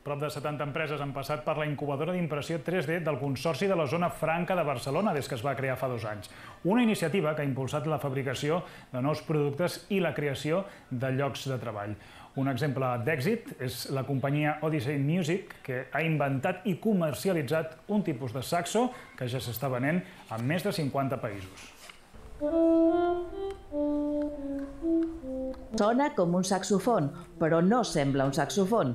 Prop de 70 empreses han passat per la incubadora d'impressió 3D del Consorci de la Zona Franca de Barcelona des que es va crear fa 2 anys. Una iniciativa que ha impulsat la fabricació de nous productes i la creació de llocs de treball. Un exemple d'èxit és la companyia Odyssey Music, que ha inventat i comercialitzat un tipus de saxo que ja s'està venent en més de 50 països. Sona com un saxofon, però no sembla un saxofon.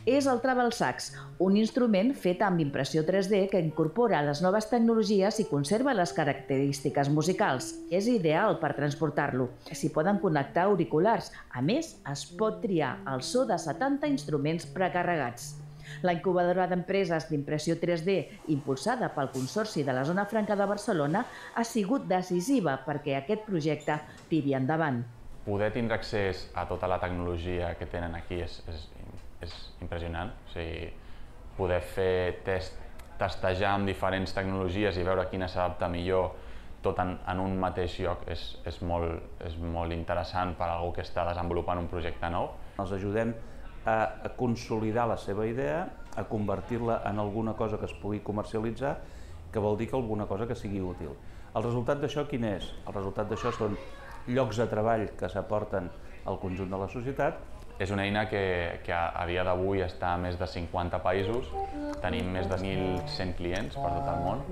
És el Travel Sax, un instrument fet amb impressió 3D que incorpora les noves tecnologies i conserva les característiques musicals. És ideal per transportar-lo. S'hi poden connectar auriculars. A més, es pot triar el so de 70 instruments precarregats. La incubadora d'empreses d'impressió 3D, impulsada pel Consorci de la Zona Franca de Barcelona, ha sigut decisiva perquè aquest projecte tiri endavant. Poder tindre accés a tota la tecnologia que tenen aquí és impressionant. O sigui, poder fer testejar amb diferents tecnologies i veure quina s'adapta millor tot en un mateix lloc és molt interessant per a algú que està desenvolupant un projecte nou. Els ajudem a consolidar la seva idea, a convertir-la en alguna cosa que es pugui comercialitzar, que vol dir que alguna cosa que sigui útil. El resultat d'això quin és? El resultat d'això són llocs de treball que s'aporten al conjunt de la societat. És una eina que a dia d'avui està a més de 50 països, tenim més de 1.100 clients per tot el món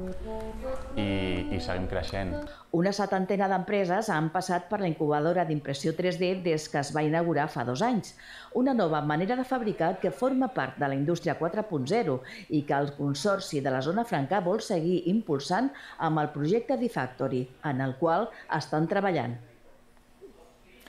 i seguim creixent. Una setantena d'empreses han passat per la incubadora d'impressió 3D des que es va inaugurar fa 2 anys. Una nova manera de fabricar que forma part de la indústria 4.0 i que el Consorci de la Zona Franca vol seguir impulsant amb el projecte D-Factory, en el qual estan treballant.